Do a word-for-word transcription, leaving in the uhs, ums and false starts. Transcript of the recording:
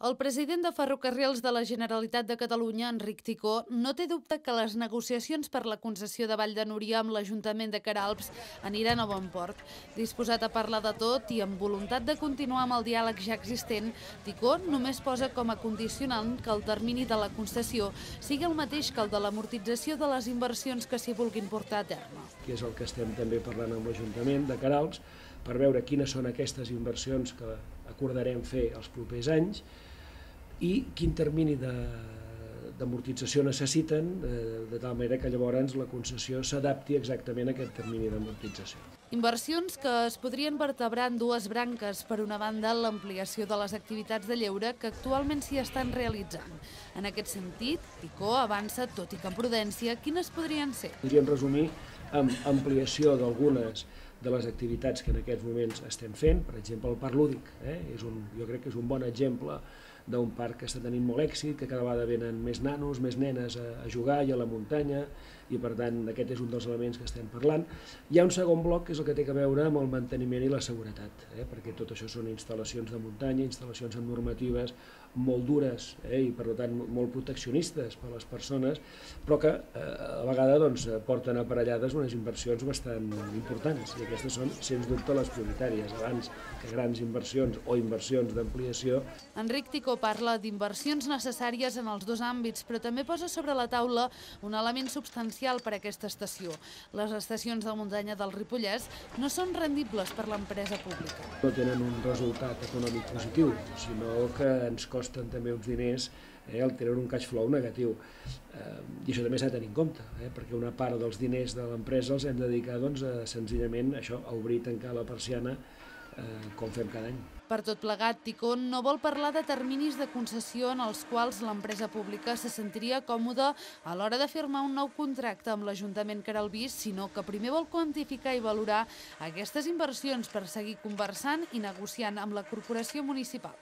El president de Ferrocarrils de la Generalitat de Catalunya, Enric Ticó, no té dubte que les negociacions per la concessió de Vall de Núria amb l'Ajuntament de Queralbs aniran a bon port. Disposat a parlar de tot i amb voluntat de continuar amb el diàleg ja existent, Ticó només posa com a condicionant que el termini de la concessió sigui el mateix que el de l'amortització de les inversions que s'hi vulguin portar a terme. Que és el que estem també parlant amb l'Ajuntament de Queralbs per veure quines són aquestes inversions que acordarem fer els propers anys i quin termini d'amortització necessiten, de tal manera que llavors la concessió s'adapti exactament a aquest termini d'amortització. Inversions que es podrien vertebrar en dues branques. Per una banda, l'ampliació de les activitats de lleure que actualment s'hi estan realitzant. En aquest sentit, Ticó avança, tot i que amb prudència, quines podrien ser? Podríem resumir amb ampliació d'algunes de les activitats que en aquests moments estem fent, per exemple el parc lúdic, eh? és un, jo crec que és un bon exemple d'un parc que està tenint molt èxit, que cada vegada venen més nanos, més nenes a, a jugar i a la muntanya, i per tant aquest és un dels elements que estem parlant. Hi ha un segon bloc que és el que té a veure amb el manteniment i la seguretat, eh? perquè tot això són instal·lacions de muntanya, instal·lacions amb normatives molt dures eh? i per tant molt proteccionistes per a les persones, però que eh, a vegades doncs, porten aparellades unes inversions bastant importants, i aquestes són sens dubte les prioritàries, abans que grans inversions o inversions d'ampliació. Enric Ticó parla d'inversions necessàries en els dos àmbits, però també posa sobre la taula un element substancial per a aquesta estació. Les estacions de muntanya del Ripollès no són rendibles per l'empresa pública. No tenen un resultat econòmic positiu, sinó que ens costen també uns diners, eh, el tenen un cash flow negatiu. Eh, I això també s'ha de tenir en compte, eh, perquè una part dels diners de l'empresa els hem de dedicar doncs, a, senzillament això, a obrir i tancar la persiana eh, com fem cada any. Per tot plegat, Ticó no vol parlar de terminis de concessió en els quals l'empresa pública se sentiria còmoda a l'hora de firmar un nou contracte amb l'Ajuntament queralbís, sinó que primer vol quantificar i valorar aquestes inversions per seguir conversant i negociant amb la corporació municipal.